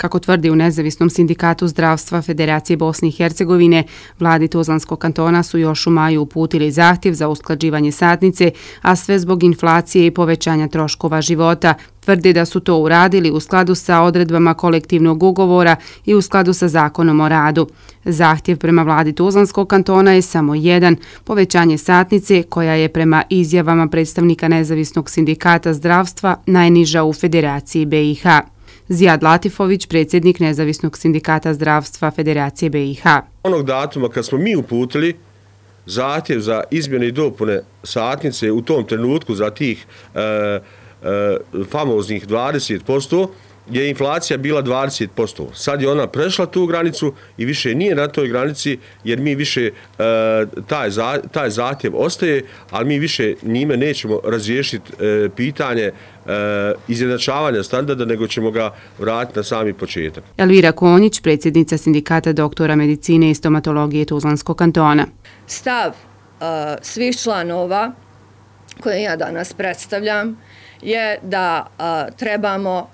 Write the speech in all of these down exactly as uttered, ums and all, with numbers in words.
Kako tvrdi u Nezavisnom sindikatu zdravstva Federacije Bosne i Hercegovine, vladi Tuzlanskog kantona su još u maju uputili zahtjev za usklađivanje satnice, a sve zbog inflacije i povećanja troškova života. Tvrdi da su to uradili u skladu sa odredbama kolektivnog ugovora i u skladu sa zakonom o radu. Zahtjev prema vladi Tuzlanskog kantona je samo jedan, povećanje satnice koja je prema izjavama predstavnika Nezavisnog sindikata zdravstva najniža u Federaciji B i H. Zijad Latifović, predsjednik Nezavisnog sindikata zdravstva Federacije B i H. Onog datuma kad smo mi uputili zahtjev za izmjene i dopune satnice u tom trenutku za tih e, e, famoznih dvadeset posto, je inflacija bila dvadeset posto. Sad je ona prešla tu granicu i više nije na toj granici jer mi više e, taj, za, taj zahtjev ostaje, ali mi više njime nećemo razriješiti e, pitanje e, izjednačavanja standarda, nego ćemo ga vratiti na sami početak. Elvira Konjić, predsjednica sindikata doktora medicine i stomatologije Tuzlanskog kantona. Stav uh, svih članova koje ja danas predstavljam je da uh, trebamo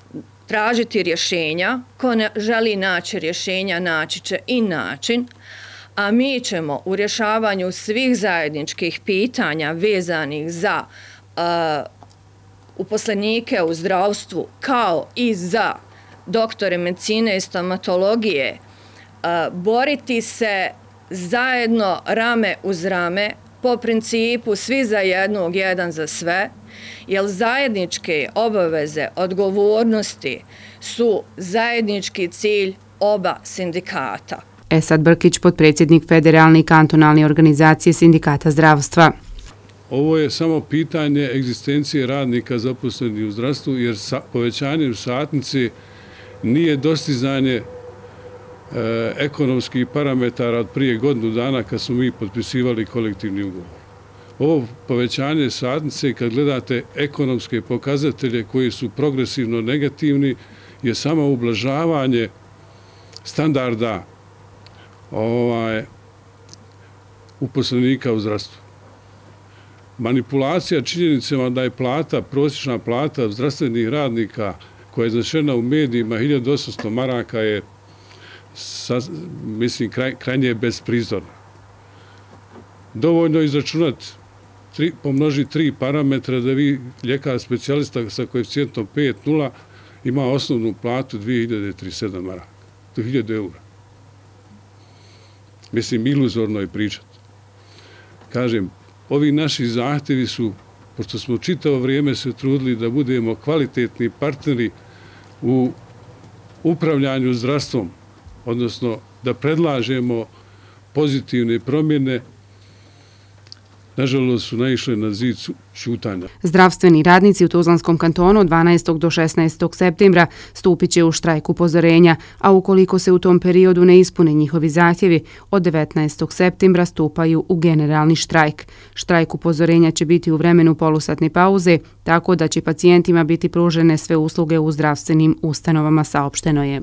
tražiti rješenja. Ko ne želi naći rješenja, naći će i način, a mi ćemo u rješavanju svih zajedničkih pitanja vezanih za uh, uposlenike u zdravstvu kao i za doktore medicine i stomatologije uh, boriti se zajedno rame uz rame po principu svi za jednog, jedan za sve, jer zajedničke obaveze, odgovornosti su zajednički cilj oba sindikata. Esad Brkić, potpredsjednik Federalne i kantonalne organizacije sindikata zdravstva. Ovo je samo pitanje egzistencije radnika zaposlenih u zdravstvu, jer sa, povećanjem satnice nije dostizanje e, ekonomskih parametara od prije godinu dana kad smo mi potpisivali kolektivni ugovor. Ovo povećanje satnice, kad gledate ekonomske pokazatelje koji su progresivno negativni, je samo ublažavanje standarda ovaj, uposlenika u zdravstvu. Manipulacija činjenicama da je plata, prosječna plata zdravstvenih radnika koja je iznešena u medijima hiljadu osamsto maraka je, mislim, kraj, krajnje besprizorna. Dovoljno izračunati, tri, pomnoži tri parametra da vi, ljekar specijalista sa koeficijentom pet zarez nula, ima osnovnu platu dvije hiljade trideset sedam maraka, do hiljadu eura. Mislim, iluzorno je pričati. Kažem, ovi naši zahtjevi su, pošto smo čitavo vrijeme se trudili da budemo kvalitetni partneri u upravljanju zdravstvom, odnosno da predlažemo pozitivne promjene, nažalost su naišle na zid ćutanja. Zdravstveni radnici u Tuzlanskom kantonu od dvanaestog do šesnaestog septembra stupit će u štrajk upozorenja, a ukoliko se u tom periodu ne ispune njihovi zahtjevi, od devetnaestog septembra stupaju u generalni štrajk. Štrajk upozorenja će biti u vremenu polusatne pauze, tako da će pacijentima biti pružene sve usluge u zdravstvenim ustanovama, saopšteno je.